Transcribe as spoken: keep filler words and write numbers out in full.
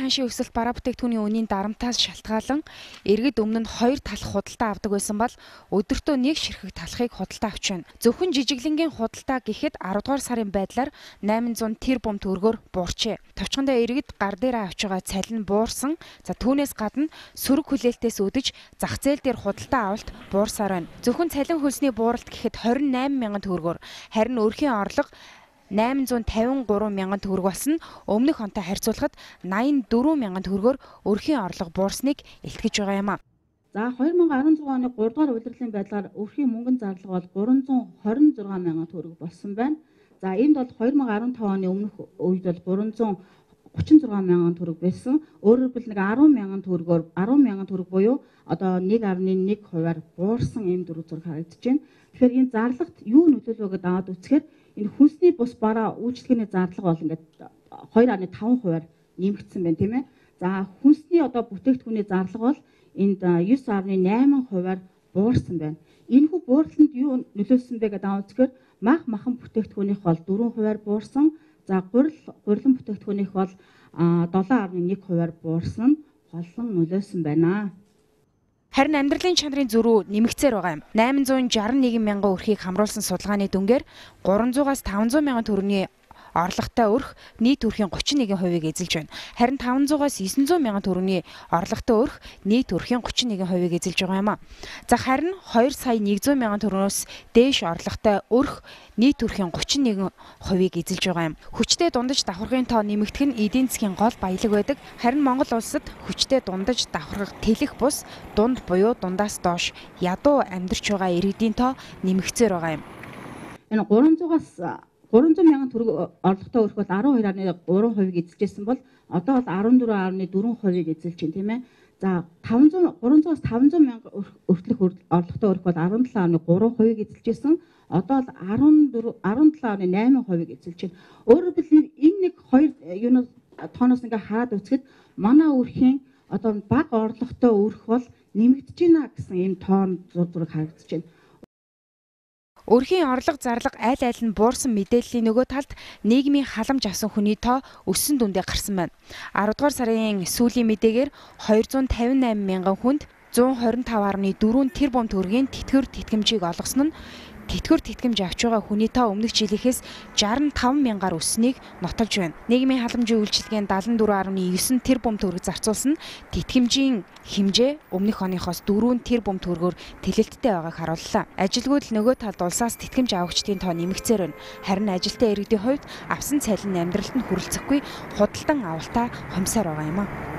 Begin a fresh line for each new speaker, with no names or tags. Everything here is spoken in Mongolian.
хааншийн өсөлт бараа бүтээгдэхүүний үнийн дарамтаас шалтгаалan иргэд өмнө нь хоёр талах худалдаа авдаг байсан бол өдөртөө нэг ширхэг талахыг худалдаа авч байна. Зөвхөн жижиглэнгийн худалдаа гэхэд арав дугаар сарын байдлаар найман зуун тэрбум төгрөгөөр буурчээ. Товчхондоо иргэд гар дээр авч байгаа цалин буурсан. За түүнээс гадна сөрөг хүлээлтээс өдөж зах зээл дээр худалдаа авалт буурсаар байна. Зөвхөн цалин хөлсний бууралт гэхэд хорин найман мянган төгрөгөөр, харин өрхийн орлого найман зуун тавин гурван мянган төгрөг болсон. Өмнөх онтой харьцуулахад найман дөрвөн мянган төгрөгөөр өрхийн орлого буурсныг илтгэж байгаа юм а.
За хоёр мянга арван зургааны гурав дугаар улирлын байдлаар өрхийн мөнгөн зарлага бол гурван зуун хорин зургаан мянган төгрөг болсон байна. За энд бол хоёр мянга арван таван оны өмнөх үед бол гурван зуун гучин зургаан мянган төгрөг байсан. Өөрөөр хэлбэл нэг арван мянган төгрөгөөр арван мянган төгрөг буюу одоо нэг гаруй нэг хувиар буурсан ийм дөрөв зураг харагдаж байна. Тэгэхээр энэ зарлагт юу нөлөөлөө гэдээ аваад үзэхээр энэ хүнсний бус бараа үйлчлэгээний зарлага бол ингээд хоёр гаруй таван хувиар нэмэгдсэн байна тийм ээ. За хүнсний одоо бүтээгдэхүүний зарлага бол энд девять гаруй найман хувиар буурсан байна. Энэхүү бууралтанд юу нөлөөлсөн бэ гэдээ аваад үзэхээр мах махан бүтээгдэхүүнийх бол дөрвөн хувиар буурсан. За гурил гурилан бүтээгдэхүүнийх бол долоон гаруй нэг хувиар буурсан холлон нөлөөсөн байна.
Харин амьдралын чанарын зөрүү нэмэгцээр байгаа юм. найман зуун шестьдесят нэг мянган өрхийг хамруулсан судалгааны дүнгээр гурван зуунаас таван зуун мянган төгрөгийн орлоготой өрх нийт өрхийн гучин нэгэн хувийг эзэлж байна. Харин таван зуунаас девять зуун мянган төгрөгийн орлоготой өрх нийт өрхийн гучин нэгэн хувийг эзэлж байгаа юм а. За харин хоёр сая нэг зуун мянган төгрөгөөс дээш орлоготой өрх нийт өрхийн гучин нэгэн хувийг эзэлж байгаа юм. Хүчтэй дундаж давхаргын тоо нэмэгдэх нь эдийн засгийн гол баялаг байдаг. Харин Монгол улсад хүчтэй дундаж давхаргах тэлэх бус дунд буюу дундаас доош ядуу амьдарч байгаа иргэдийн тоо нэмэгцээр байгаа юм.
Энэ гурван зуунаас гурван зуун мянган төгрөг орлоготой өрх бол арван хоёр гаруй гурван хувийг эзэлжсэн бол одоо бол арван дөрвөн гаруй дөрвөн хувийг эзэлж байна тийм ээ. За таван зуун гурван зуунаас таван зуун мянган өртөлөх орлоготой өрх бол арван долоо гаруй гурван хувийг эзэлжсэн. Одоо бол арван дөрвөн арван долоо гаруй найман хувийг эзэлж байна. Өөрөөр хэлбэл энэ нэг хоёр юунаас тооноос ингээ хараад үзэхэд манай өрхийн одоо бага орлоготой өрх бол нэмэгдэж байна гэсэн ийм тоон зураг харагдаж байна.
Өрхийн орлого зарлага аль аль нь буурсан мэдээллийн нөгөө талд нийгмийн халамж авсан хүний тоо өссөн дүндээ гарсан байна. арав дугаар сарын сүүлийн мэдээгээр хоёр зуун тавин найман мянган хүнд зуун хорин тав гаруй дөрвөн тэрбум төгрөгийн тэтгэвэр тэтгэмжийг олгосон нь тэтгэвэр тэтгэмж авч байгаа хүний тоо өмнөх жилийнхээс шестьдесят таван мянгаар өссөнийг нотолж байна. Нийгмийн халамжийн үйлчилгээнд седемдесет и четыре гаруй девять тэрбум төгрөг зарцуулсан нь тэтгэмжийн хэмжээ өмнөх оныхоос дөрвөн тэрбум төгрөгөөр тэлэлттэй байгааг харууллаа. Ажилгүйд л нөгөө талд улсаас тэтгэмж авагчдын тоо нэмэгцээр байна. Харин ажилтаа иргэдийн хувьд авсан цалин нь амьдралд нь хүрэлцэхгүй худалдан авалтаа хомсоор байгаа юм а.